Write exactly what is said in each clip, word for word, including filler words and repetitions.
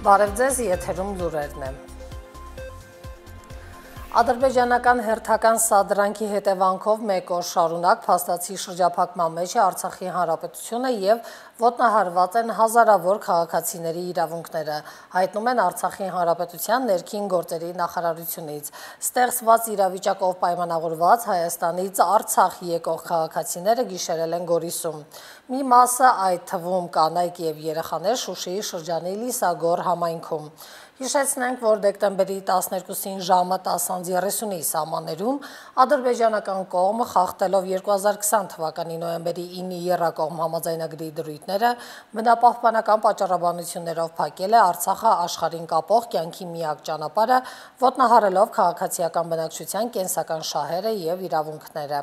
Բարև ձեզ, եթերում լուրերն են։ Ադրբեջանական հերթական սադրանքի հետևանքով մեկ օր շարունակ փաստացի շրջափակման մեջ է Արցախի Հանրապետությունը եւ ոտնահարված են հազարավոր քաղաքացիների իրավունքները, հայտնում են Արցախի Հանրապետության ներքին գործերի նախարարությունից։ Ստեղծված իրավիճակով պայմանավորված Հայաստանից Արցախ եկող քաղաքացիները գիշերել են Գորիսում։ Մի մասը, այդ թվում կանայք եւ երեխաներ, Շուշիի շրջանի Լիսագոր համայնքում։ Հիշեցնենք, որ դեկտեմբերի տասներկուսին ժամը տասը երեսունի սահմաններում ադրբեջանական կողմը խախտելով երկու հազար քսան թվականի նոյեմբերի ինի եռակողմ համաձայնագրի դրույթները բնապահպանական պատճառաբանություններով փակել է Արցախը աշխարհին կապող կյանքի միակ ճանապարհը, ոտնահարելով քաղաքացիական բնակչության կենսական շահերը եւ իրավունքները։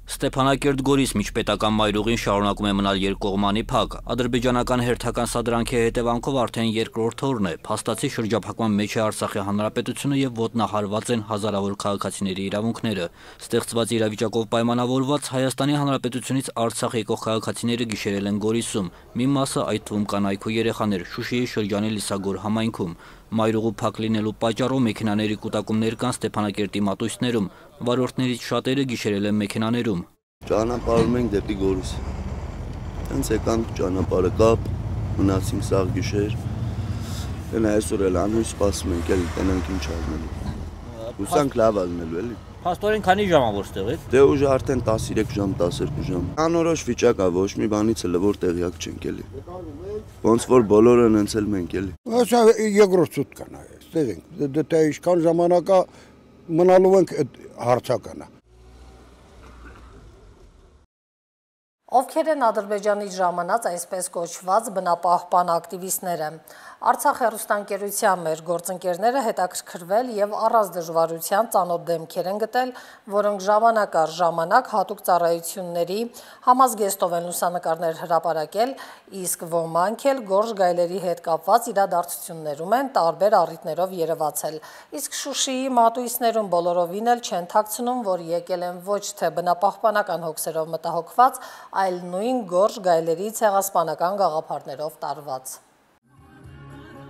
Ստեփանակերտ-Գորիս միջպետական մայրուղին շարունակում է մնալ երկկողմանի փակ։ Ադրբեջանական հերթական սադրանքի հետևանքով արդեն երկրորդ օրն է։ Փաստացի շրջափակման մեջ է Արցախի Հանրապետությունը եւ ոտնահարված են հազարավոր քաղաքացիների իրավունքները։ Ստեղծված իրավիճակով պայմանավորված Հայաստանի Հանրապետությունից Արցախ եկող քաղաքացիները գիշերել են Գորիսում։ Մի մասը, այդ թվում կանայք ու երեխաներ, Շուշիի շրջանի Լիսագոր համայնքում։ Մայրուղու փակ լինելու պատճառով մեքենաների կուտակումներ կան Ստեփանակերտի մատույցներում, վարորդներից շատերը գիշերել են մեքենաներում։ Ճանապարհում ենք դեպի Գորիս։ Հենց եկանք ճանապարհը կապ, մնացինք սաղ գիշեր։ Դե այսօր էլ անհույս սպասում ենք, էլ տենանք ինչ անելու։ Հուսանք լավ ալնելու էլի։ Փաստորեն քանի ժամ ա որ ստեղ եք։ Դե ուժ արդեն տասներեք ժամ, տասներկու ժամ։ Անորոշ վիճակ ա, ոչ մի բանից էլ որ տեղյակ չենք էլի։ Ոնց որ բոլորը հենց էլ մենք էլի։ Ասա երկրորդ սուտկան է, ստեղ ենք։ Դե ինչքան ժամանակ է մնալու ենք հարցականա։ Ովքեր են Ադրբեջանից ժամանած այսպես կոչված բնապահպան ակտիվիստները։ Արցախ հեռուստաընկերության մեր գործընկերները հետաքրքրվել եւ առանց դժվարության ծանոթ դեմքեր են գտել, որոնք ժամանակ առ ժամանակ հատուկ ծառայությունների համազգեստով են լուսանկարներ հրապարակել, իսկ ոմանք էլ գորշ գայլերի հետ կապված իրադարձություններում են տարբեր առիթներով երևացել։ Իսկ Շուշիի մատույցներում բոլորովին էլ չեն թաքցնում, որ եկել են ոչ թե բնապահպանական հոգսերով մտահոգված, այլ նույն գորշ գայլերի ցեղասպանական գաղափարներով տարված։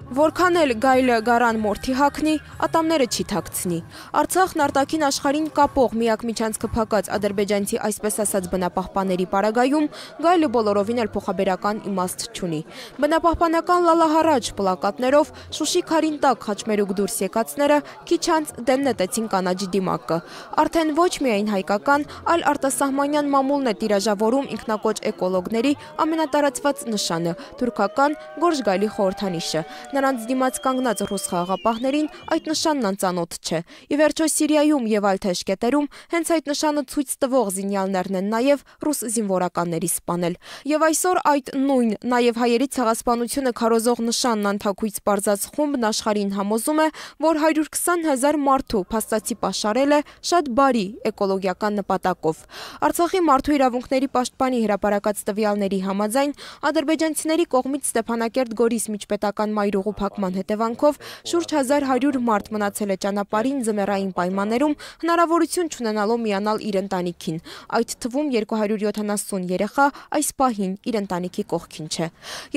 Որքան էլ գայլը գարան մորթի հագնի, ատամները չի թաքցնի։ Արցախն արտաքին աշխարհին կապող միակ միջանցքը փակած ադրբեջանցի այսպես ասած բնապահպանների պարագայում գայլը բոլորովին էլ փոխաբերական իմաստ չունի։ Բնապահպանական լալահարաջ պլակատներով Շուշի քարին տակ խաչմերուկ դուրս եկածները քիչ անց դեմ նետեցին կանաչի դիմակը։ Արդեն ոչ միայն հայկական, այլ արտասահմանյան մամուլն է տիրաժավորում ինքնակոչ էկոլոգների ամենատարածված նշանը՝ թուրքական գորշ գայլի խորհրդանիշը։ Նրանց դիմաց կանգնած ռուս խաղաղապահներին այդ նշանն անծանոթ չէ։ Ի վերջո Սիրիայում եւ այլ թեժկետերում հենց այդ նշանը ցույց տվող զինյալներն են նաեւ ռուս զինվորականների սպանել։ Եվ այսօր այդ նույն, նաեւ հայերի ցեղասպանությունը քարոզող նշանն անթաքույց բարձած խումբն աշխարհին համոզում է, որ հարյուր քսան հազար մարդու փաստացի պաշարել է շատ բարի էկոլոգիական նպատակով։ Արցախի մարդու իրավունքների պաշտպանի հրապարակած տվյալների համաձայն ադրբեջանցիների կողմից Ստեփանակերտ-Գորիս միջպետական մայրուղու փակման հետևանքով շուրջ հազար հարյուր մարդ մնացել է ճանապարհին ձմեռային պայմաններում հնարավորություն չունենալով միանալ իր ընտանիքին, այդ թվում երկու հարյուր յոթանասուն երեխա այս պահին իր ընտանիքի կողքին չէ։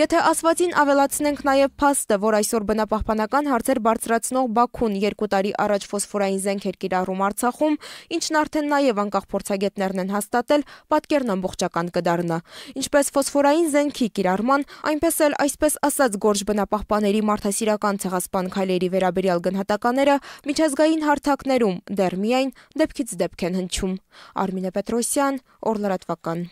Եթե ասվածին ավելացնենք նաև փաստը, որ այսօր բնապահպանական հարցեր բարձրացնող Բաքուն երկու տարի առաջ ֆոսֆորային զենք էր կիրառում Արցախում, ինչն արդեն նաև անկախ փորձագետներն են հաստատել, պատկերն ամբողջական կդառնա։ Ինչպես ֆոսֆորային զենքի կիրառման, այնպես էլ այսպես ասած գորշ բնապահպանների մարդասիրական ցեղասպան քայլերի վերաբերյալ գնահատականները միջազգային հարթակներում դեռ միայն դեպքից դեպք են հնչում։ Արմինե Պետրոսյան, Օրլրատվական։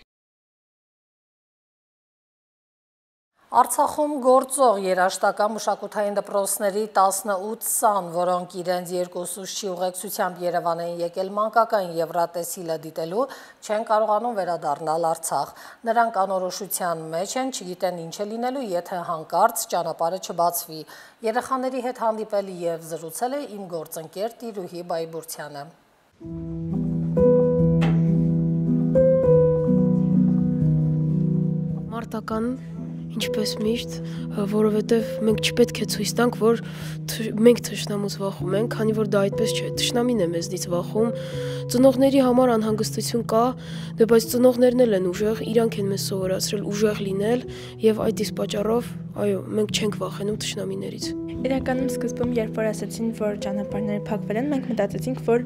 Արցախում գործող երաժշտական մշակութային դպրոցների տասնութ սան, որոնք իրենց երկու ուսուցչի ուղեկցությամբ Երևան են եկել մանկական Եվրատեսիլը դիտելու, չեն կարողանում վերադառնալ Արցախ։ Նրանք անորոշության մեջ են, չգիտեն ինչ է լինելու, եթե հանկարծ ճանապարհը չբացվի։ Երեխաների հետ հանդիպել եւ զրուցել է իմ գործընկեր Տիրուհի Բայբուրցյանը։ Մարտական Ինչպես միշտ, որովհետև մենք չպետք է ցույց տանք, որ մենք թշնամուց վախում ենք, քանի որ դա այդպես չէ։ Թշնամին է մեզնից վախում։ Ծնողների համար անհանգստություն կա, դե բայց ծնողներն էլ են ուժեղ, իրանք են մեզ սովորացրել ուժեղ լինել, եւ այդ իսկ պատճառով, այո, մենք չենք վախենում թշնամիներից։ Իրականում սկզբում, երբ որ ասացին, որ ճանապարհները փակվել են, մենք մտածեցինք, որ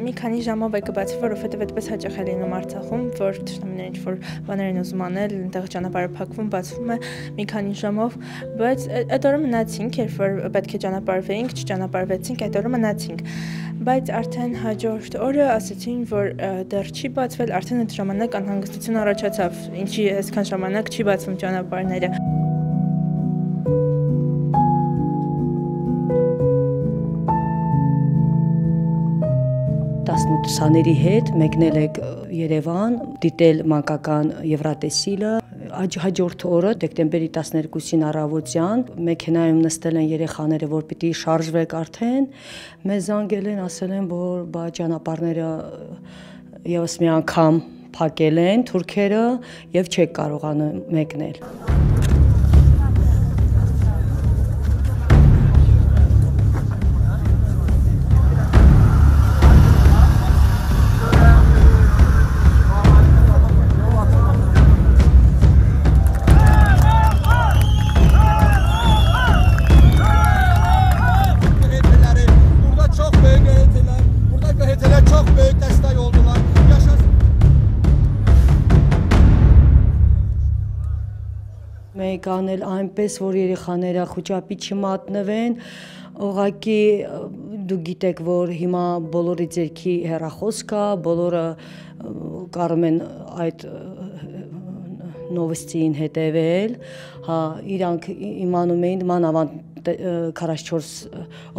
մի քանի ժամով է կբացվի, որովհետև այդպես հաճախ է լինում Արցախում, որ թշնամիները ինչ-որ բաներ են ուզում անել, այնտեղ ճանապարհը փակվում, բացվում է մի քանի ժամով, բայց այդ օրը մնացինք, երբ որ պետք է ճանապարհվեինք, չճանապարհվեցինք, այդ օրը մնացինք։ Բայց արդեն հաջորդ օրը ասացին, որ դեռ չի բացվել, արդեն այդ ժամանակ անհանգստություն առաջացավ, ինչի այսքան ժամանակ չի բացվում ճանապարհները։ տասնութ հետ մեկնել եք Երևան, դիտել մանկական Եվրատեսիլը, հաջորդ օրը դեկտեմբերի տասներկուսին առավոտյան մեքենայում նստել են երեխաները, որ պիտի շարժվեք արդեն, մեզ զանգել են, ասել են, որ բա ճանապարհները եւս մի անգամ փակել են թուրքերը եւ չեք կարողանում մեկնել։ Մեկ անել այնպես, որ երեխաները խուճապի չմատնվեն, ուղղակի դու գիտեք, որ հիմա բոլորի ձեռքի հեռախոս կա, բոլորը կարում են այդ նովոստին հետևել, հա, իրանք իմանում էին, մանավանդ քառասունչորս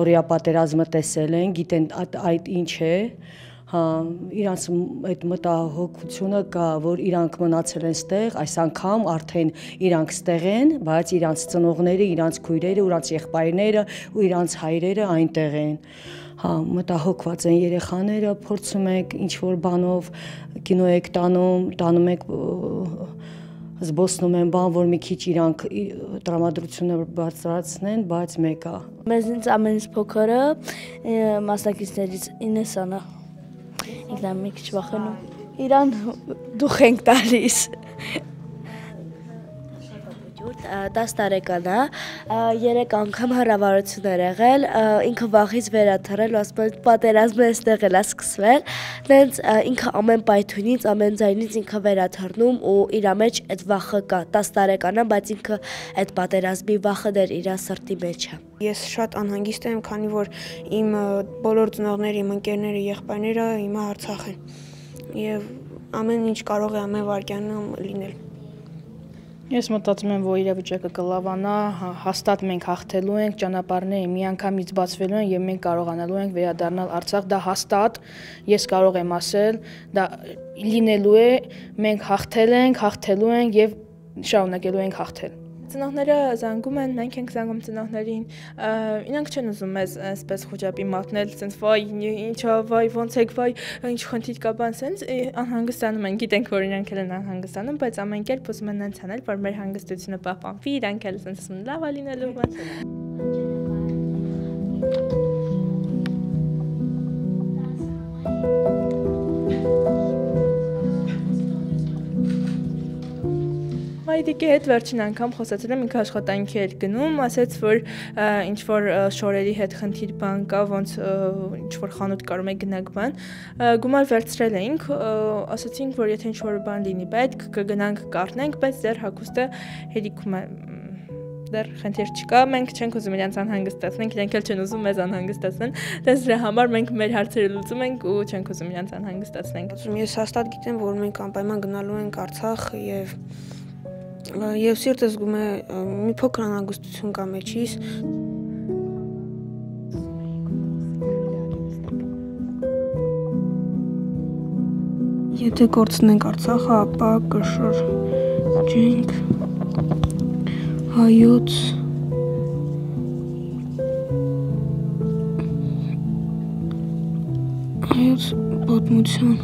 օրյա պատերազմը տեսել են, գիտեն այդ ինչ է, հա, իրանց այդ մտահոգությունը կա, որ իրանք մնացել են ստեղ, այս անգամ արդեն իրանք ստեղ են, բայց իրանց ծնողները, իրանց քույրերը, իրանց եղբայրները ու իրանց հայրերը այնտեղ են։ Հա, մտահոգված են երեխաները, փորձում եք ինչ-որ բանով կինո եք տանում, տանում եք զբոսնում են բան, որ մի քիչ իրանք տրամադրությունը բարձրացնեն, բայց մեկա։ Մեզնից ամենից փոքրը մասնակիցներից իննսանը։ Ինքնամ մի քիչ վախենում։ Իրան դուխ ենք տալիս։ տասը տարեկան է, երեք անգամ հրավառություններ եղել, ինքը վախից վերաթռել, ասում են պատերազմը այստեղ էլ է սկսվել, նենց ինքը ամեն պայթունից, ամեն ձայնից ինքը վերաթռնում ու իր մեջ այդ վախը կա, տասը տարեկան է, բայց ինքը այդ պատերազմի վախը դեռ իր սրտի մեջ է։ Ես շատ անհանգիստ եմ, քանի որ իմ բոլոր ծնողները, իմ ընկերները, եղբայրները հիմա Արցախ են եւ ամեն ինչ կարող է ամեն վայրկյանում լինել։ Ես մտածում եմ, որ իրավիճակը կլավանա, հաստատ մենք հաղթելու ենք, ճանապարհները միանգամից բացվելու են եւ մենք կարողանալու ենք վերադառնալ Արցախ, դա հաստատ, ես կարող եմ ասել, դա լինելու է, մենք հաղթել ենք, հաղթելու ենք եւ շարունակելու ենք հաղթել։ Ծնողները զանգում են, մենք ենք զանգում ծնողներին, իրանք չեն ուզում մեզ այսպես խոճապի մատնել, ասենց վայ, ինչա, վայ, ոնց եք, վայ, ինչ խնդիր կա բան, ասենց անհանգստանում են, գիտենք, որ իրանք էլ են անհանգստանում, բայց ամեն կերպ ուզում են այնց անել, որ մեր հանգստությունը պահպանվի, իրանք էլ ասենց ասում լավ է լինելու բան։ Մայրիկի հետ վերջին անգամ խոսացել եմ, ինքը աշխատանքի էր գնում, ասաց, որ ինչ-որ շորերի հետ խնդիր բան կա, ոնց ինչ-որ խանութ կարում է գնաք բան, գումար վերցրել էինք, ասացինք, որ եթե ինչ-որ բան լինի պետք, կգնանք կառնենք, բայց դեռ հագուստը հերիքում է, դեռ խնդիր չկա, մենք չենք ուզում իրենց անհանգստացնենք, իրենք էլ չեն ուզում մեզ անհանգստացնեն, դες դրա համար մենք մեր հարցերը լուծում ենք ու չենք ուզում իրենց անհանգստացնենք։ Ես հաստատ գիտեմ, որ մենք անպայման գնալու ենք Արցախ եւ Եվ սիրտը զգում է մի փոքր անհանգստություն կա մեջիս։ Եթե կորցնենք Արցախը, ապա կշրջենք հայոց հայոց պատմության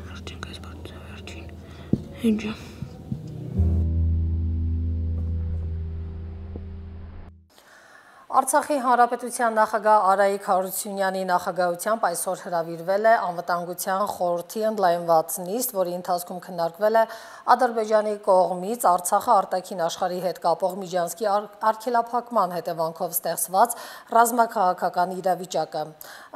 վերջին կես բարձր վերջին։ Ինչ։ Արցախի Հանրապետության նախագահ Արայիկ Հարությունյանի նախագահությամբ այսօր հրավիրվել է Անվտանգության խորհրդի ընդլայնված նիստ, որի ընթացքում քննարկվել է Ադրբեջանի կողմից Արցախը արտաքին աշխարհի հետ կապող Միջանցքի արգելափակման հետևանքով ստեղծված ռազմաքաղաքական իրավիճակը։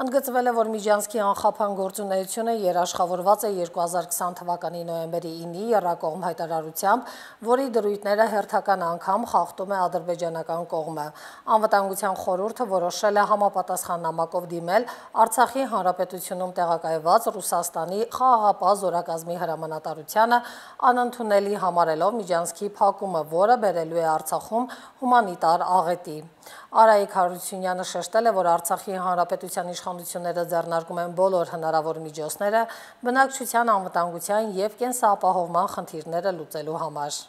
Ընդգծվել է, որ Միջանցքի անխափան գործունեությունը երաշխավորված է երկու հազար քսան թվականի նոյեմբերի ինի եռակողմ հայտարարությամբ, որի դրույթները հերթական անգամ խախտում է ադրբեջանական կողմը։ Անվտանգության խորհուրդը որոշել է համապատասխան նամակով դիմել Արցախի Հանրապետությունում տեղակայված Ռուսաստանի խաղաղապահ զորակազմի հրամանատարությանը անընդունելի համարելով Միջանցքի փակումը, որը բերելու է Արցախում հումանիտար աղետի։ Արայիկ Հարությունյանը շեշտել է, որ Արցախի Հանրապետության իշխանությունները ձեռնարկում են բոլոր հնարավոր միջոցները բնակչության անվտանգության և կենսապահովման խնդիրները լուծելու համար։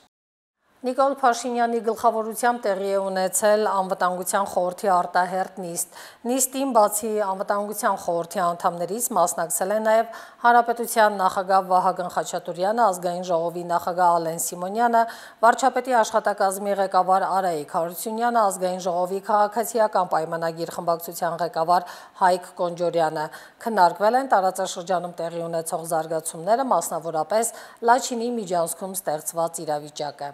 Նիկոլ Փաշինյանի գլխավորությամբ տեղի է ունեցել Անվտանգության խորհրդի արտահերթ նիստ։ Նիստին բացի Անվտանգության խորհրդի անդամներից մասնակցել են նաև Հանրապետության նախագահ Վահագն Խաչատուրյանը, ազգային ժողովի նախագահ Ալեն Սիմոնյանը, վարչապետի աշխատակազմի ղեկավար Արայիկ Հարությունյանը, ազգային ժողովի քաղաքացիական պայմանագիր խմբակցության ղեկավար Հայկ Կոնջորյանը։ Քննարկվել են տարածաշրջանում տեղի ունեցող զարգացումները, մասնավորապես Լաչինի Միջանցքում ստեղծված իրավիճակը։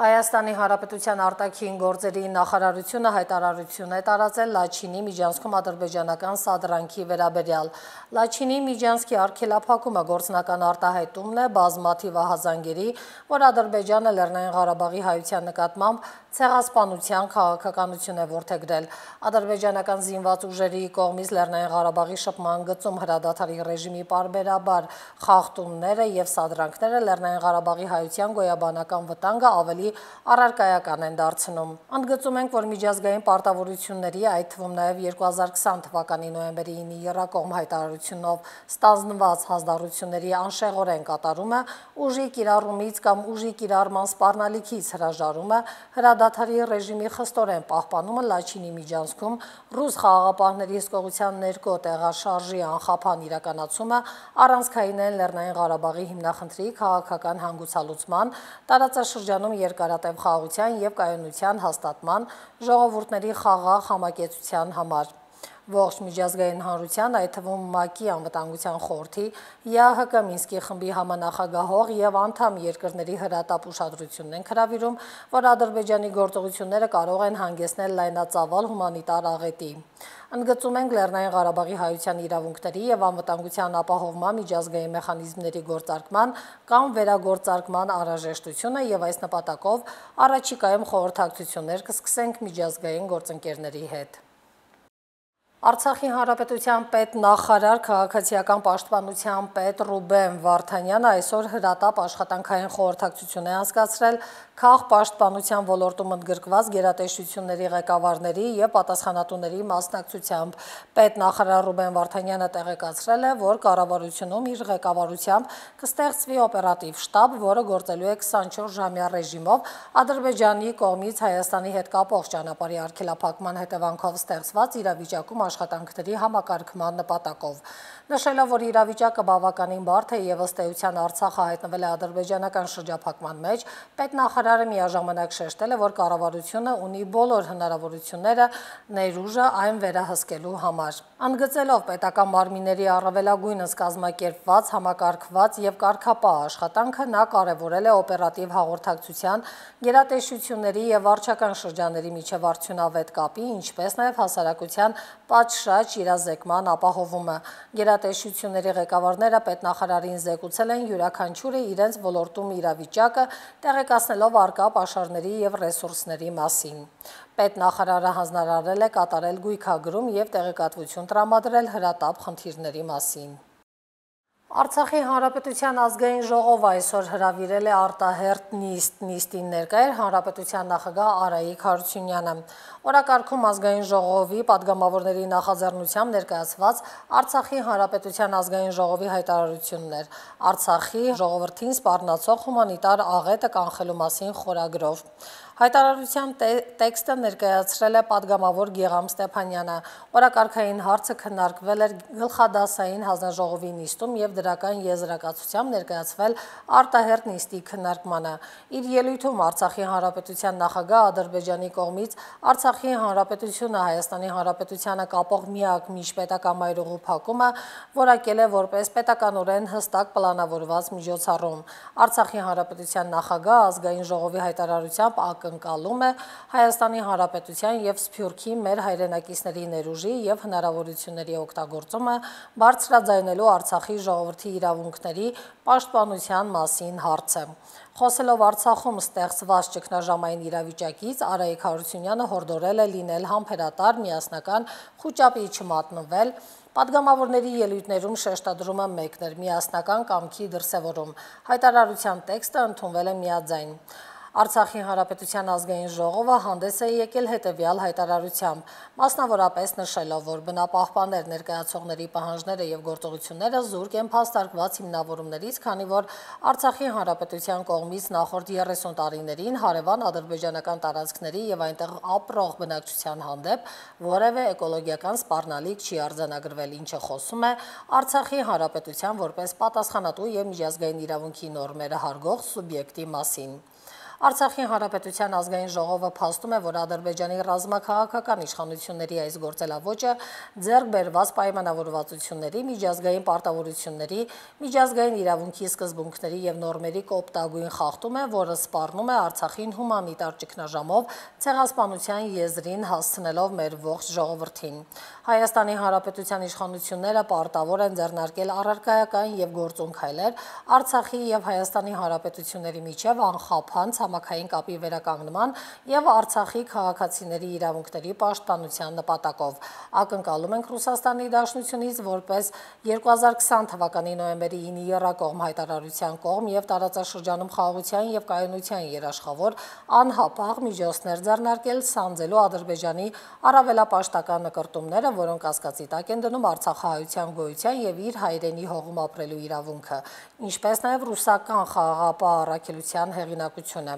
Հայաստանի Հանրապետության արտաքին գործերի նախարարությունը հայտարարություն է տարածել Լաչինի Միջանցքում ադրբեջանական սադրանքի վերաբերյալ։ Լաչինի Միջանցքի արգելափակումը գործնական արտահայտումն է բազմաթիվ ահազանգերի, որ Ադրբեջանը Լեռնային Ղարաբաղի հայության նկատմամբ ցեղասպանության քաղաքականություն է որդեգրել։ Ադրբեջանական զինված ուժերի կողմից Լեռնային Ղարաբաղի շփման գծում հրադադարի ռեժիմի պարբերաբար խախտումները եւ սադրանքները Լեռնային Ղարաբաղի հայության գոյաբանական վտանգը ավելի առարկայական են դարձնում։ Ընդգծում ենք, որ միջազգային պարտավորությունների, այդ թվում նաև երկու հազար քսան թվականի նոյեմբերի ինի եռակողմ հայտարարությունով ստանձնված հանձնառությունների անշեղորեն կատարումը, ուժի կիրառումից կամ ուժի կիրառման սպառնալիքից հրաժարումը, հրադադարի ռեժիմի խստորեն պահպանումը Լաչինի Միջանցքում, ռուս խաղաղապահների հսկողության ներքո տեղաշարժի անխափան իրականացումը առանցքային են Լեռնային Ղարաբաղի հիմնախնդրի քաղաքական հանգուցալուծման, տարածաշրջանում երկարատև խաղաղության և կայունության հաստատման, ժողովուրդների խաղաղ համակեցության համար։ Ողջ միջազգային հանրության, այդ թվում ՄԱԿ-ի անվտանգության խորհրդի, ԵԱՀԿ Մինսկի խմբի համանախագահող և անդամ երկրների հրատապ ուշադրությունն են հրավիրում, որ Ադրբեջանի գործողությունները կարող են հանգեցնել լայնածավալ հումանիտար աղետի։ Ընդգծում ենք Լեռնային Ղարաբաղի հայության իրավունքների և անվտանգության ապահովման միջազգային մեխանիզմների գործարկման կամ վերագործարկման անհրաժեշտությունը և այս նպատակով առաջիկայում խորհրդակցություններ կսկսենք միջազգային գործընկերների հետ։ Արցախի Հանրապետության պետնախարար քաղաքացիական պաշտպանության պետ Ռուբեն Վարդանյանը այսօր հրատապ աշխատանքային խորհրդակցություն է անցկացրել քաղաքապաշտպանության ոլորտում ընդգրկված գերատեսչությունների ղեկավարների և պատասխանատուների մասնակցությամբ։ Պետնախարար Ռուբեն Վարդանյանը տեղեկացրել է, որ կառավարությունում իր ղեկավարությամբ կստեղծվի օպերատիվ շտաբ, որը գործելու է քսանչորս ժամյա ռեժիմով Ադրբեջանի կողմից Հայաստանի հետ կապող ճանապարհի արգելափակման հետևանքով ստեղծված իրավիճակում աշխատանքների համակարգման նպատակով։ Նշելով, որ իրավիճակը բավականին բարդ է և ըստ էության Արցախը հայտնվել է ադրբեջանական շրջափակման մեջ, պետնախարարը միաժամանակ շեշտել է, որ կառավարությունը ունի բոլոր հնարավորությունները ներուժը այն վերահսկելու համար։ Ընդգծելով պետական մարմինների առավելագույնս կազմակերպված, համակարգված և կարգապահ աշխատանքը, նա կարևորել է օպերատիվ հաղորդակցության, գերատեսչությունների և վարչական շրջանների միջև արդյունավետ կապի, ինչպես նաև հասարակության պատշաճ իրազեկման ապահովումը։ Գերատեսչությունների ղեկավարները պետնախարարին զեկուցել են յուրաքանչյուրը իրենց ոլորտում իրավիճակը, տեղեկացնելով առկա պաշարների և ռեսուրսների մասին։ Պետնախարարը հանձնարարել է կատարել գույքագրում և տեղեկատվություն տրամադրել հրատապ խնդիրների մասին։ Արցախի Հանրապետության ազգային ժողովը այսօր հրավիրել է արտահերթ նիստ։ Նիստին ներկա էր Հանրապետության նախագահ Արայիկ Հարությունյանը։ Օրակարգում ազգային ժողովի падգամավորների նախաձեռնությամբ ներկայացված Արցախի Հանրապետության ազգային ժողովի հայտարարությունն էր Արցախի ժողովրդին սպառնացող հումանիտար աղետը կանխելու մասին խորագրով։ Հայտարարության տեքստը ներկայացրել է պատգամավոր Գեգամ Ստեփանյանը։ Օրակարգային հարցը քննարկվել էր գլխադասային հանձնաժողովի նիստում եւ դրական եզրակացությամբ ներկայացվել արտահերտ նիստի քննարկմանը։ Իր ելույթում Արցախի Հանրապետության նախագահ Ադրբեջանի կողմից Արցախի Հանրապետությունը Հայաստանի Հանրապետությանը կապող միակ միջպետական մայրուղու փակումը որակել է որպես պետականորեն հստակ պլանավորված միջոցառում։ Արցախի Հանրապետության նախագահ ազգային ժողովի հայտարարությամբ ակնկալում է Հայաստանի Հանրապետության եւ Սփյուռքի մեր հայրենակիցների ներուժի եւ հնարավորությունների օգտագործումը բարձրաձայնելու Արցախի ժողովրդի իրավունքների պաշտպանության մասին հարցը։ Խոսելով Արցախում ստեղծված ճգնաժամային իրավիճակից, Արայիկ Հարությունյանը հորդորել է լինել համբերատար, միասնական, խուճապի չմատնվել։ Պատգամավորների ելույթներում շեշտադրումը մեկն էր՝ միասնական կամքի դրսևորում։ Հայտարարության տեքստը ընդունվել է միաձայն։ Արցախի Հանրապետության ազգային ժողովը հանդես է եկել հետևյալ հայտարարությամբ, մասնավորապես նշելով, որ բնապահպաններ ներկայացողների պահանջները եւ գործողությունները զուրկ են փաստարկված հիմնավորումներից, քանի որ Արցախի Հանրապետության կողմից նախորդ երեսուն տարիներին հարևան ադրբեջանական տարածքների եւ այնտեղ ապրող բնակչության հանդեպ որևէ էկոլոգիական սպառնալիք չի արձանագրվել, ինչը խոսում է Արցախի Հանրապետության որպես պատասխանատու եւ միջազգային իրավունքի նորմերը հարգող սուբյեկտի մասին։ Արցախի Հանրապետության ազգային ժողովը փաստում է, որ Ադրբեջանի ռազմաքաղաքական իշխանությունների այս գործելավոճը ձեռք բերված պայմանավորվածությունների, միջազգային պարտավորությունների, միջազգային իրավունքի սկզբունքների եւ նորմերի կոպտագույն խախտում է, որը սպառնում է Արցախին հումանիտար ճգնաժամով ցեղասպանության եզրին հասցնելով մեր ողջ ժողովրդին։ Հայաստանի Հանրապետության իշխանությունները պարտավոր են ձեռնարկել առարկայական եւ գործուն քայլեր Արցախի եւ Հայաստանի Հանրապետությունների միջև անխափան համակային կապի վերականգնման եւ Արցախի քաղաքացիների իրավունքների պաշտպանության նպատակով։ Ակնկալում ենք Ռուսաստանի Դաշնությունից որպես երկու հազար քսան թվականի նոյեմբերի ինը եռակողմ հայտարարության կողմ եւ տարածաշրջանում խաղաղության եւ կայունության երաշխավոր անհապաղ միջոցներ ձեռնարկել սանձելու Ադրբեջանի առավելապաշտական նկարտումները, որոնք կասկածի տակ են դնում արցախահայության գոյության եւ իր հայրենի հողում ապրելու իրավունքը, ինչպես նաեւ ռուսական խաղաղապահ առաքելության հեղինակությունը։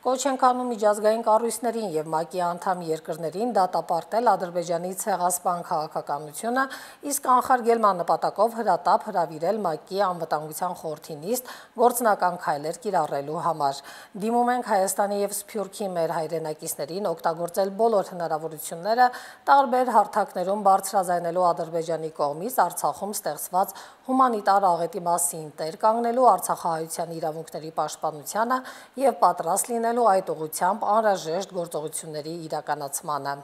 Կոչ ենք անում միջազգային կառույցներին եւ ՄԱԿ-ի անդամ երկրներին դատապարտել Ադրբեջանի ցեղասպան քաղաքականությունը, իսկ անխարգելման նպատակով հրատապ հրավիրել ՄԱԿ-ի անվտանգության խորհրդի նիստ գործնական քայլեր կիրառելու համար։ Դիմում ենք Հայաստանի եւ Սփյուռքի մեր հայրենակիցներին օգտագործել բոլոր հնարավորությունները տարբեր հարթակներում բարձրաձայնելու Ադրբեջանի կողմից Արցախում ստեղծված հումանիտար աղետի մասին տեր կանգնելու արցախահայության իրավունքների պաշտպանությանը եւ պատրաստ լինելու այդ ուղղությամբ անհրաժեշտ գործողությունների իրականացմանը։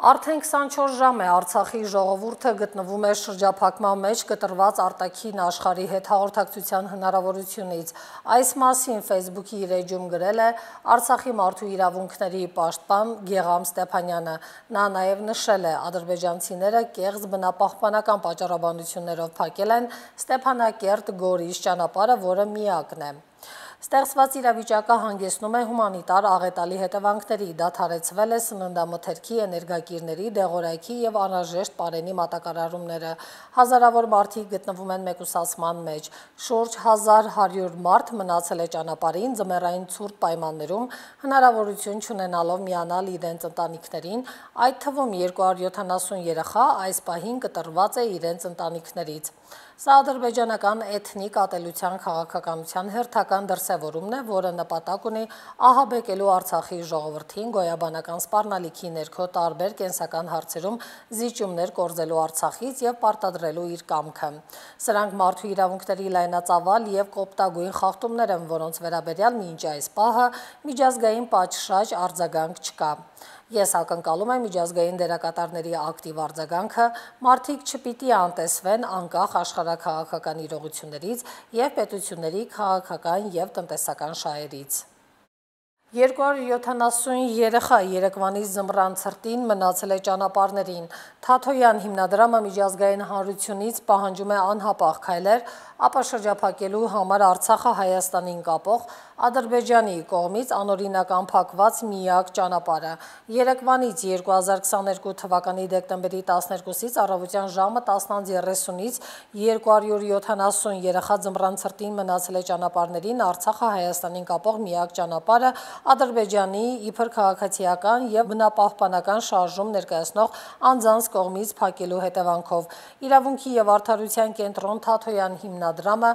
Արդեն քսանչորս ժամ է Արցախի ժողովուրդը գտնվում է շրջափակման մեջ կտրված արտաքին աշխարհի հետ հաղորդակցության հնարավորությունից։ Այս մասին Facebook-ի իր էջում գրել է Արցախի մարդու իրավունքների պաշտպան Գեգամ Ստեփանյանը։ Նա նաև նշել է, ադրբեջանցիները կեղծ բնապահպանական պատճառաբանություններով փակել են Ստեփանակերտ-Գորիս ճանապարհը, որը միակն է։ Ստեղծված իրավիճակը հանգեցնում է հումանիտար աղետալի հետևանքների, դադարեցվել է սննդամթերքի, էներգակիրների, դեղորայքի եւ անհրաժեշտ պարենի մատակարարումները։ Հազարավոր մարդիկ գտնվում են մեկուսացման մեջ։ Շուրջ հազար հարյուր մարդ մնացել է ճանապարհին ձմեռային ցուրտ պայմաններում, հնարավորություն չունենալով միանալ իրենց ընտանիքներին, այդ թվում երկու հարյուր յոթանասուն երեխա այս պահին կտրված է իրենց ընտանիքներից։ Սա ադրբեջանական էթնիկ ատելության քաղաքականության հերթական դրսևորումն է, որը նպատակ ունի ահաբեկելու Արցախի ժողովրդին գոյաբանական սպառնալիքի ներքո տարբեր կենսական հարցերում զիջումներ կորզելու Արցախից եւ պարտադրելու իր կամքը։ Սրանք մարդու իրավունքների լայնածավալ եւ կոպտագույն խախտումներ են, որոնց վերաբերյալ մինչ այս պահը միջազգային պատշաճ արձագանք չկա։ Ես ակնկալում եմ միջազգային դերակատարների ակտիվ արձագանքը, մարդիկ չպիտի անտեսվեն անկախ աշխարհաքաղաքական իրողություններից եւ պետությունների քաղաքական եւ տնտեսական շահերից։ երկու հարյուր յոթանասուն երեխա երեկվանից ձմռան ցրտին մնացել է ճանապարհներին։ Թաթոյան հիմնադրամը միջազգային հանրությունից պահանջում է անհապաղ քայլեր ապա շրջափակելու համար Արցախը Հայաստանին կապող Ադրբեջանի կողմից անօրինական փակված միակ ճանապարհը։ Երեկվանից երկու հազար քսաներկու թվականի դեկտեմբերի տասներկուսից առավոտյան ժամը տասն երեսունից երկու հարյուր յոթանասուն երեխա ձմռան ցրտին մնացել է ճանապարհներին Արցախը Հայաստանին կապող միակ ճանապարհը Ադրբեջանի իբր քաղաքացիական եւ բնապահպանական շարժում ներկայացնող անձանց կողմից փակելու հետևանքով։ Իրավունքի եւ արդարության կենտրոն Թաթոյան հիմնադրամը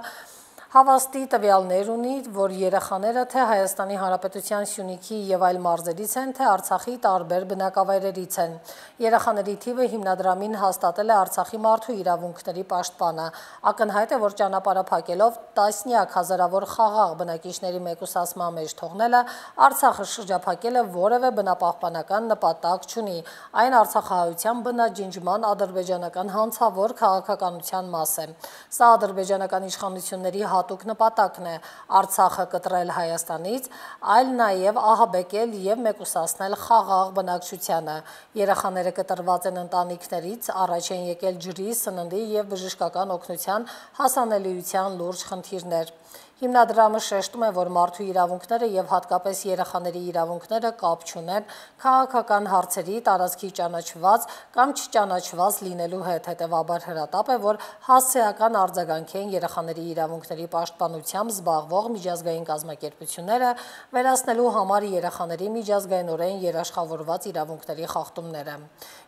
հավաստի տվյալներ ունի, որ երեխաները թե Հայաստանի Հանրապետության Սյունիքի եւ այլ մարզերից են, թե Արցախի տարբեր բնակավայրերից են։ Երեխաների թիվը հիմնադրամին հաստատել է Արցախի մարդու իրավունքների պաշտպանը։ Ակնհայտ է, որ ճանապարհը փակելով տասնյակ հազարավոր խաղաղ բնակիչների մեկուսացման մեջ թողնելը Արցախը շրջափակելը որևէ բնապահպանական նպատակ չունի։ Այն արցախահայության բնաջնջման ադրբեջանական հանցավոր քաղաքականության մաս է։ Սա ադրբեջանական իշխանությունների հատուկ նպատակն է Արցախը կտրել Հայաստանից, այլ նաև ահաբեկել եւ մեկուսացնել խաղաղ բնակչությանը։ Երեխաները կտրված են ընտանիքներից, առաջ են եկել ջրի, սննդի եւ բժշկական օգնության հասանելիության լուրջ խնդիրներ։ Հիմնադրամը շեշտում է, որ մարդու իրավունքները եւ հատկապես երեխաների իրավունքները կապ չունեն քաղաքական հարցերի, տարածքի ճանաչված կամ չճանաչված լինելու հետ, հետեւաբար հրատապ է, որ հասցեական արձագանք են երեխաների իրավունքների պաշտպանությամբ զբաղվող միջազգային կազմակերպությունները վերացնելու համար երեխաների միջազգայինորեն երաշխավորված իրավունքների խախտումները։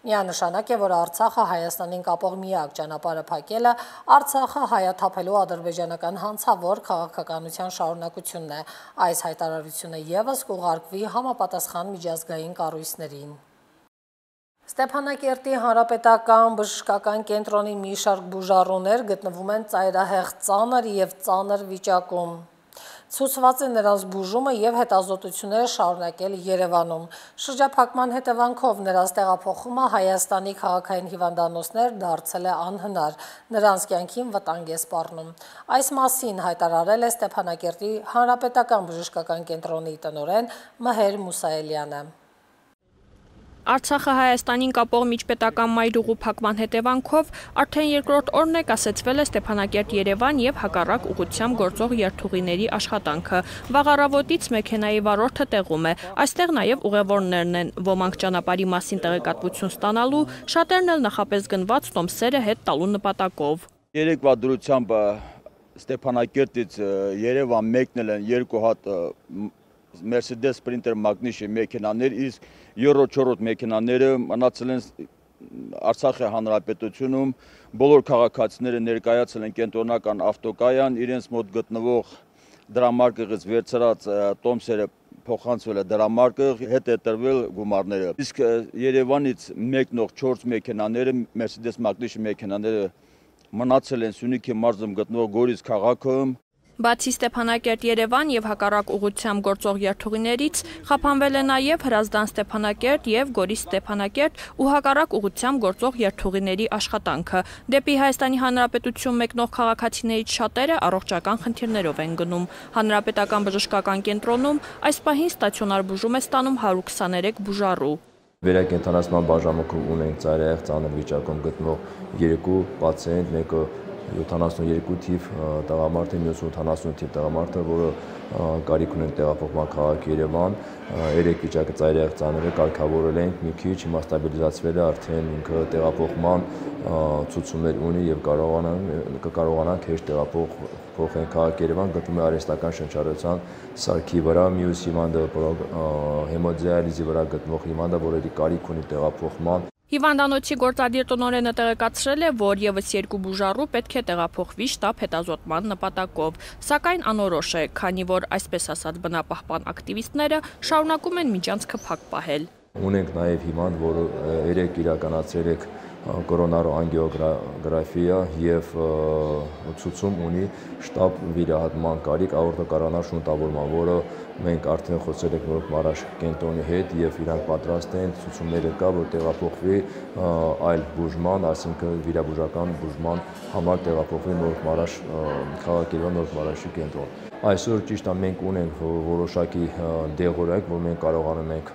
Միանշանակ է, որ Արցախը Հայաստանին կապող միակ ճանապարհը փակելը Արցախը հայաթափելու ադրբեջանական հանցավոր քաղաքականության շարունակությունն է։ Այս հայտարարությունը ևս կուղարկվի համապատասխան միջազգային կառույցներին։ Ստեփանակերտի հանրապետական բժշկական կենտրոնի մի շարք բուժառուներ գտնվում են ծայրահեղ ծանր եւ ծանր վիճակում։ Ցուցված է նրանց բուժումը եւ հետազոտությունները շարունակել Երևանում։ Շրջափակման հետևանքով նրանց տեղափոխումը Հայաստանի քաղաքային հիվանդանոցներ դարձել է անհնար, նրանց կյանքին վտանգ է սպառնում։ Այս մասին հայտարարել է Ստեփանակերտի հանրապետական բժշկական կենտրոնի տնօրեն Մհեր Մուսայելյանը։ Արցախը Հայաստանին կապող միջպետական մայրուղու փակման հետևանքով արդեն երկրորդ օրն է կասեցվել է Ստեփանակերտ-Երևան եւ հակառակ ուղղությամբ գործող երթուղիների աշխատանքը։ Վաղ առավոտից մեքենայի վարորդը տեղում է։ Այստեղ նաեւ ուղևորներն են, ոմանք ճանապարհի մասին տեղեկատվություն ստանալու, շատերն էլ նախապես գնված տոմսերը հետ տալու նպատակով։ Երեկվա դրությամբ Ստեփանակերտից Երևան մեկնել են երկու հատ Mercedes Sprinter Magnus մեքենաներ, իսկ երրորդ մեքենաները մնացել են Արցախի հանրապետությունում, բոլոր քաղաքացիները ներկայացել են կենտրոնական ավտոկայան, իրենց մոտ գտնվող դրամարկղից վերցրած տոմսերը փոխանցվել է դրամարկղ, հետ է տրվել գումարները։ Իսկ Երևանից մեկնող չորս մեքենաները, Mercedes Magnus մեքենաները մնացել են Սյունիքի մարզում գտնվող Գորիս քաղաքում։ Բացի Ստեփանակերտ-Երևան եւ հակառակ ուղղությամբ գործող երթուղիներից խափանվել է նաեւ Հրազդան-Ստեփանակերտ եւ Գորիս-Ստեփանակերտ ու հակառակ ուղղությամբ գործող երթուղիների աշխատանքը։ Դեպի Հայաստանի Հանրապետություն մեկնող քաղաքացիներից շատերը առողջական խնդիրներով են գնում։ Հանրապետական բժշկական կենտրոնում այս պահին ստացիոնար բուժում է ստանում հարյուր քսաներեք բուժառու։ Վերակենդանացման բաժանմունքում ունենք ծայրահեղ ծանր վիճակում գտնվող երկու պացիենտ, մեկը յոթանասունյոթ թիվ տղամարդ է, մյուսը ութանասուն թիվ տղամարդ է, որը կարիք ունեն տեղափոխման քաղաք Երևան, երեք վիճակը ծայրահեղ ծանր է, կարգավորել ենք մի քիչ, հիմա ստաբիլիզացվել է, արդեն ինքը տեղափոխման ցուցումներ ունի եւ կկարողանանք հեշտ տեղափոխել քաղաք Երևան, գտնվում է արհեստական շնչառության սարքի վրա, մյուս հիվանդը հեմոդիալիզի վրա գտնվող հիվանդը, որը կարիք ունի տեղափոխման։ Հիվանդանոցի գործադիր տնօրենը տեղեկացրել է, որ եւս երկու բուժառու պետք է տեղափոխվի շտապ հետազոտման նպատակով, սակայն անորոշ է, քանի որ այսպես ասած բնապահպան ակտիվիստները շարունակում են միջանցքը փակ պահել։ Ունենք նաեւ հիվանդ, որը երեք իրականացրել է կորոնարո անգիոգրաֆիա եւ ցուցում ունի շտապ վիրահատման կարիք աորտոկոռոնար շունտավորման, որը մենք արդեն խոսել ենք նոր Մարաշ կենտրոնի հետ եւ իրանք պատրաստ են, ցուցումները կա, որ տեղափոխվի այլ բուժման, այսինքն վիրաբուժական բուժման համար տեղափոխվի նոր Մարաշ քաղաք Երևան, նոր Մարաշի կենտրոն։ Այսօր ճիշտ է մենք ունենք որոշակի դեղորայք, որ մենք կարողանում ենք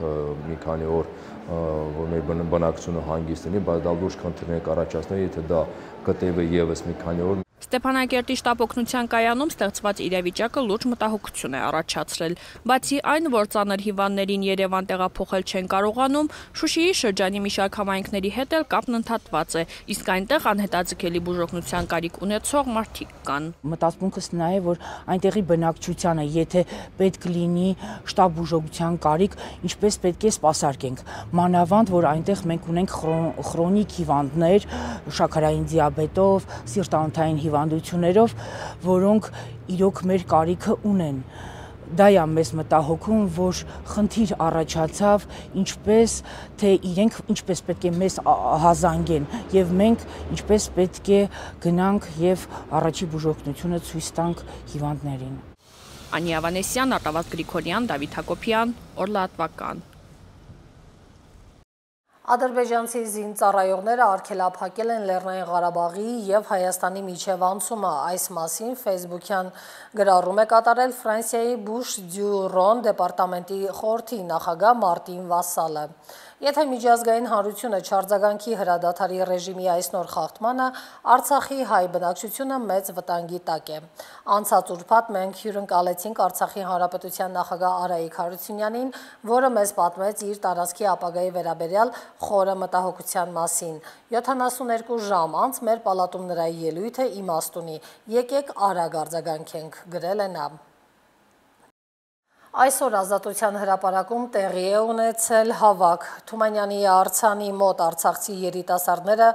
մի քանի օր որ մեր բնակչությունը հանգիստ լինի, բայց դա լուրջ խնդիրներ կառաջացնի, եթե դա գտևի եւս մի քանի օր։ Ստեփանակերտի շտապ օգնության կայանում ստեղծված իրավիճակը լուրջ մտահոգություն է առաջացրել։ Բացի այն, որ ծանր հիվանդներին Երևան տեղափոխել չեն կարողանում, Շուշիի շրջանի մի շարք համայնքների հետ էլ կապն ընդհատված է, իսկ այնտեղ անհետաձգելի բուժօգնության կարիք ունեցող մարդիկ կան։ Մտածմունքս նա է, որ այնտեղի բնակչությանը, եթե պետք լինի շտապ բուժօգնության կարիք, ինչպես պետք է սպասարկենք։ Մանավանդ, որ այնտեղ մենք ունենք խրոնիկ հիվանդներ, շաքարային դիաբետով, սիրտանոթային հիվանդություններով, որոնք իրոք մեր կարիքը ունեն։ Դա է մեզ մտահոգում, որ խնդիր առաջացավ, ինչպես թե իրենք ինչպես պետք է մեզ հազանգեն եւ մենք ինչպես պետք է գնանք եւ առաջի բուժօգնությունը ցույց տանք հիվանդներին։ Անի Ավանեսյան, Արտավազդ Գրիգորյան, Դավիթ Հակոբյան, Օրլատվական։ Ադրբեջանցի զինծառայողները արգելափակել են Լեռնային Ղարաբաղի եւ Հայաստանի միջև անցումը։ Այս մասին Facebook-յան գրառում է կատարել Ֆրանսիայի Բուշ դյու Ռոն դեպարտամենտի խորհրդի նախագահ Մարտին Վասալը։ Եթե միջազգային հանրությունը չարձագանքի հրադադարի ռեժիմի այս նոր խախտմանը, Արցախի հայ բնակչությունը մեծ վտանգի տակ է։ Անցած ուրբաթ մենք հյուրընկալեցինք Արցախի Հանրապետության նախագահ Արայիկ Հարությունյանին, որը մեզ պատմեց իր տարածքի ապագայի վերաբերյալ խորը մտահոգության մասին։ յոթանասուներկու ժամ անց մեր պալատում նրա ելույթը իմաստ ունի։ Եկեք արագ արձագանքենք, գրել է նա։ Այսօր Ազատության հրապարակում տեղի է ունեցել հավաք։ Թումանյանի արձանի մոտ արցախցի երիտասարդները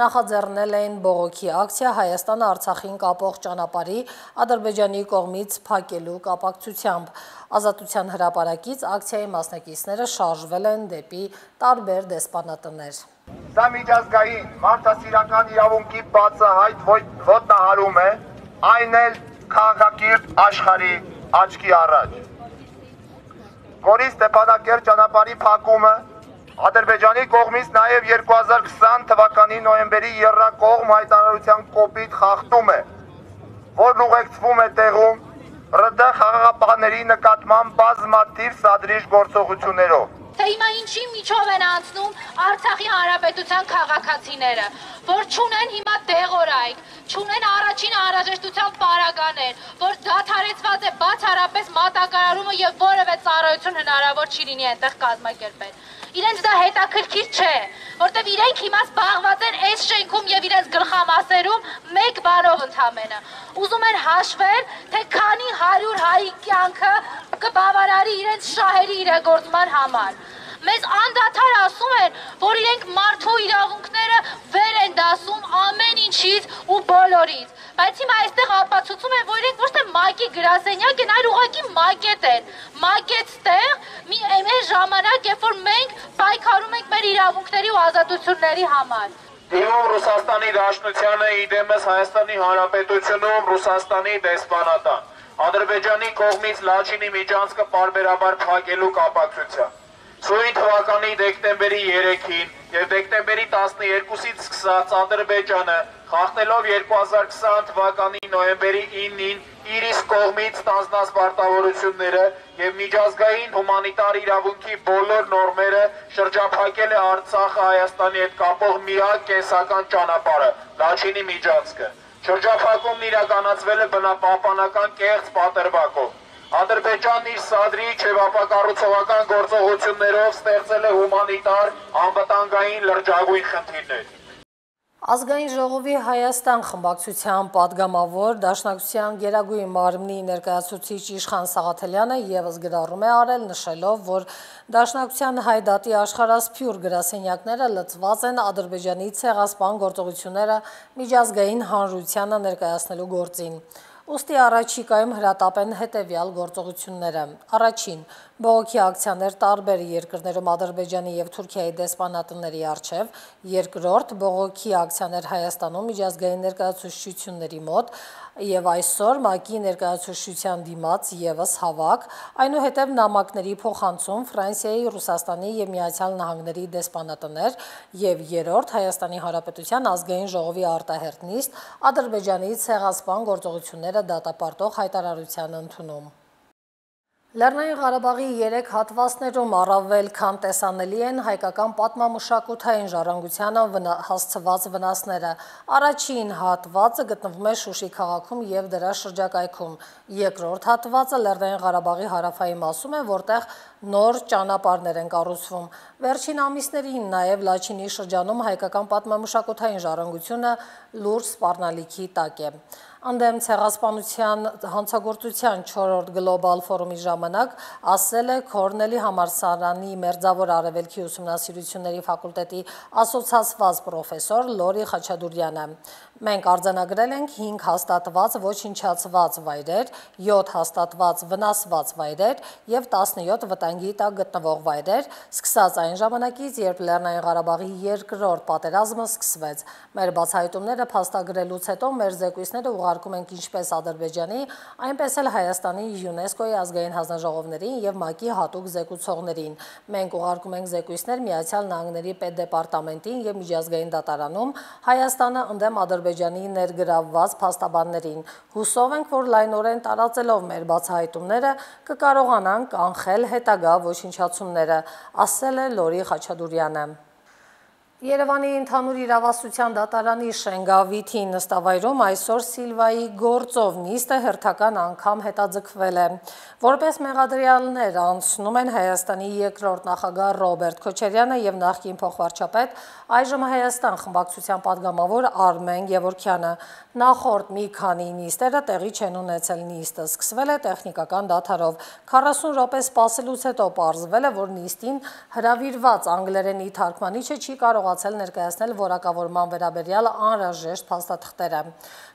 նախաձեռնել էին բողոքի ակցիա Հայաստանը Արցախին կապող ճանապարհի Ադրբեջանի կողմից փակելու կապակցությամբ։ Ազատության հրապարակից ակցիայի մասնակիցները շարժվել են դեպի տարբեր դեսպանատներ։ Սա միջազգային մարդասիրական իրավունքի բացահայտ ոտնահարում է, այն էլ քաղաքակիրթ աշխարհի աչքի առաջ։ Գորիս Ստեփանակերտ ճանապարհի փակումը Ադրբեջանի կողմից նաև երկու հազար քսան թվականի նոյեմբերի եռակողմ հայտարարության կոպիտ խախտում է, որն ուղեկցվում է տեղում ՌԴ խաղաղապահների նկատմամբ բազմաթիվ սադրիչ գործողություններով։ Թե հիմա ինչի միջով են անցնում Արցախի հանրապետության քաղաքացիները, որ չունեն հիմա դեղորայք, չունեն առաջին անհրաժեշտության պարագաներ, որ դադարեցված է բացառապես մատակարարումը եւ որևէ ծառայություն հնարավոր չի լինի այնտեղ կազմակերպել։ Իրենց դա հետաքրքիր չէ, որտեվ իրենք հիմա զբաղված են այս շենքում եւ իրենց գլխամասերում մեկ բանով ընդամենը։ Ուզում են հաշվել, թե քանի հարյուր հայի կյանքը կբավարարի իրենց շահերի իրագործման համար։ Մեզ անդադար ասում են, որ իրենք մարդու իրավունքները վեր են դասում ամեն ինչից ու բոլորից, բայց հիմա այստեղ ապացուցում են, որ իրենք ոչ թե ՄԱԿ-ի գրասենյակ են, այլ ուղղակի մակետ են, մակետ ստեղ մի այն ժամանակ, երբ որ մենք պայքարում ենք մեր իրավունքների ու ազատությունների համար։ Դիմում Ռուսաստանի Դաշնությանը, իդեմս Հայաստանի Հանրապետությունում Ռուսաստանի դեսպանատան, Ադրբեջանի կողմից Լաչինի միջանցքը պարբերաբար փակելու կապակցությամբ։ Սույն թվականի դեկտեմբերի երեքին եւ դեկտեմբերի տասներկուսից սկսած Ադրբեջանը խախտելով երկու հազար քսան թվականի նոյեմբերի իննին իր իսկ կողմից ստանձնած պարտավորությունները եւ միջազգային հումանիտար իրավունքի բոլոր նորմերը շրջափակել է Արցախը Հայաստանի հետ կապող միակ կենսական ճանապարհը՝ Լաչինի միջանցքը։ Շրջափակումն իրականացվել է բնապահպանական կեղծ պատրվակով։ Ադրբեջանն իր սադրիչ եւ ապակառուցողական գործողություններով ստեղծել է հումանիտար անվտանգային լրջագույն խնդիրներ։ Ազգային ժողովի Հայաստան խմբակցության падգամավոր Դաշնակցության Գերագույն մարմնի ներկայացուցիչ Իշխան Սաղաթելյանը ևս գրառում է արել, նշելով, որ Դաշնակցության հայ դատի աշխարհասփյուր գրասենյակները լծված են Ադրբեջանի ցեղասպան գործողությունները միջազգային հանրությանը ներկայացնելու գործին։ Ուստի առաջիկայում հրատապ են հետևյալ գործողությունները։ Առաջին, բողոքի ակցիաներ տարբեր երկրներում Ադրբեջանի եւ Թուրքիայի դեսպանատների առջև, երկրորդ, բողոքի ակցիաներ Հայաստանում միջազգային ներկայացուցչությունների մոտ եւ այսօր ՄԱԿ-ի ներկայացուցչության դիմաց եւս հավաք, այնուհետեւ նամակների փոխանցում Ֆրանսիայի, Ռուսաստանի եւ Միացյալ Նահանգների դեսպանատներ եւ երրորդ Հայաստանի Հանրապետության ազգային ժողովի արտահերտ նիստ Ադրբեջանի ցեղասպան գործողությունները դատապարտող հայտարարության ընդունում։ Լեռնային Ղարաբաղի երեք հատվածներում առավել քան տեսանելի են հայկական պատմամշակութային ժառանգությանը հասցված վնասները։ Առաջին հատվածը գտնվում է Շուշի քաղաքում և դրա շրջակայքում։ Երկրորդ հատվածը Լեռնային Ղարաբաղի հարավային մասում է, որտեղ նոր ճանապարհներ են կառուցվում։ Վերջին ամիսներին նաև Լաչինի շրջանում հայկական պատմամշակութային ժառանգությունը լուրջ սպառնալիքի տակ է։ Անդեմ ցեղասպանության հանցագործության չորրորդ գլոբալ ֆորումի ժամանակ ասել է Քորնելի համալսարանի Մերձավոր Արևելքի ուսումնասիրությունների ֆակուլտետի ասոցացված պրոֆեսոր Լորի Խաչատուրյանը։ Մենք արձանագրել ենք հինգ հաստատված ոչնչացված վայրեր, յոթ հաստատված վնասված վայրեր և տասնյոթ վտանգի տակ գտնվող վայրեր, սկսած այն ժամանակից, երբ Լեռնային Ղարաբաղի երկրորդ պատերազմը սկսվեց։ Մեր բացահայտումները փաստագրելուց հետո մեր զեկույցները ուղարկում ենք ինչպես Ադրբեջանի, այնպես էլ Հայաստանի ՅՈՒՆԵՍԿՕ-ի ազգային հանձնաժողովներին և ՄԱԿ-ի հատուկ զեկուցողներին։ Մենք ուղարկում ենք զեկույցներ Միացյալ Նահանգների պետդեպարտամենտին և միջազգային դատարանում, Հայաստանը ընդդեմ Ադրբեջանի ներգրավված փաստաբաններին։ Հուսով ենք, որ լայնորեն տարածելով մեր բացահայտումները կկարողանանք կանխել հետագա ոչնչացումները, ասել է Լորի Խաչատուրյանը։ Երևանի ընդհանուր իրավասության դատարանի Շենգավիթի նստավայրում այսօր Սիլվայի գործով նիստը հերթական անգամ հետաձգվել է։ Որպես մեղադրյալներ անցնում են Հայաստանի երկրորդ նախագահ Ռոբերտ Քոչարյանը և նախկին փոխվարչապետ, այժմ Հայաստան խմբակցության падգամավոր Արմեն Գևորգյանը։ Նախորդ մի քանի նիստերը տեղի չեն ունեցել։ Նիստը սկսվել է տեխնիկական դադարով։ քառասուն րոպե սպասելուց հետո պարզվել է, որ նիստին հրավիրված անգլերենի թարգմանիչը չի կարողացել ներկայացնել որակավորման վերաբերյալ անհրաժեշտ փաստաթղթերը։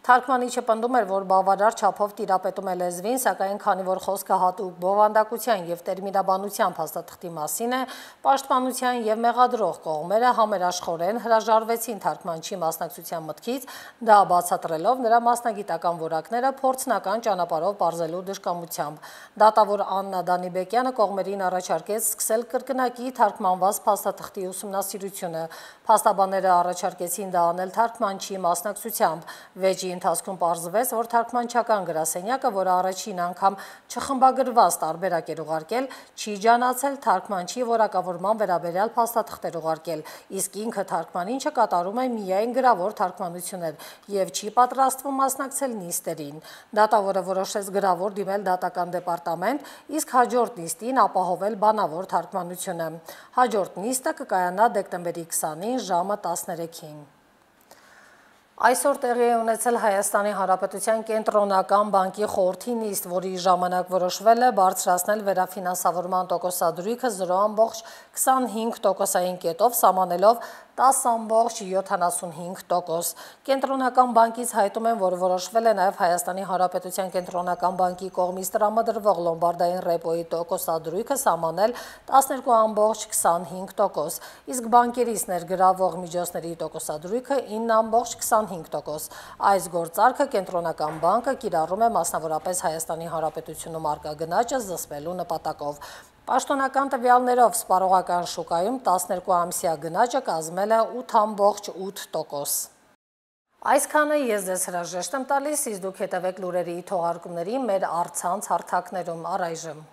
Թարգմանիչը պնդում էր, որ բավարար չափով տիրապետում է լեզվին, սակայն քանի որ խոսքը հատուկ բովանդակության և տերմինաբանության փաստաթղթի մասին է, պաշտպանության և մեղադրող կողմերը համերաշխորեն հրաժարվեցին թարգմանչի մասնակցության մտքից, դա բացատրելով նրա մասնագիտական որակները փորձնական ճանապարհով պարզելու դժկամությամբ։ Դատավոր Աննա Դանիբեկյանը կողմերին առաջարկեց սկսել կրկնակի թարգմանված փաստաթղթի ուսումնասիրությունը։ Փաստաբանները առաջարկեցին դա անել թարգմանչի մասնակցությամբ։ Վեճի ընթացքում պարզվեց, որ թարգմանչական գրասենյակը, որը առաջին անգամ չխմբագրված տարբերակ էր ուղարկել, չի ջանացել թարգմանչի որակավորման վերաբերյալ փաստաթղթեր ուղարկել, իսկ ինքը թարգմանիչը կատարում է միայն գրավոր թարգմանություններ և չի պատրաստվում մասնակցել նիստերին։ Դատավորը որոշեց գրավոր դիմել դատական դեպարտամենտ, իսկ հաջորդ նիստին ապահովել բանավոր թարգմանությունը։ Հաջորդ նիստը կկայանա դեկտեմբերի քսանին ժամը տասներեքին։ Այսօր տեղի է ունեցել Հայաստանի Հանրապետության կենտրոնական բանկի խորհրդի նիստ, որի ժամանակ որոշվել է բարձրացնել վերաֆինանսավորման տոկոսադրույքը զրո ամբողջ քսանհինգ տոկոսային կետով, սահմանելով տասը ամբողջ յոթանասունհինգ տոկոս։ Կենտրոնական բանկից հայտում են, որ որոշվել է նաև Հայաստանի Հանրապետության կենտրոնական բանկի կողմից տրամադրվող լոմբարդային ռեպոյի տոկոսադրույքը սահմանել տասներկու ամբողջ քսանհինգ տոկոս, իսկ բանկերից ներգրավող միջոցների տոկոսադրույքը ինը ամբողջ քսանհինգ տոկոս։ Այս գործարքը կենտրոնական բանկը կիրառում է մասնավորապես Հայաստանի Հանրապետությունում առկա գնաճը զսպելու նպատակով։ Պաշտոնական տվյալներով սպառողական շուկայում տասներկու ամսյա գնաճը կազմել է ութ ամբողջ ութ տոկոս։ Այսքանը ես ձեզ հրաժեշտ եմ տալիս, իսկ դուք հետևեք լուրերի թողարկումներին մեր առցանց հարթակներում առայժմ։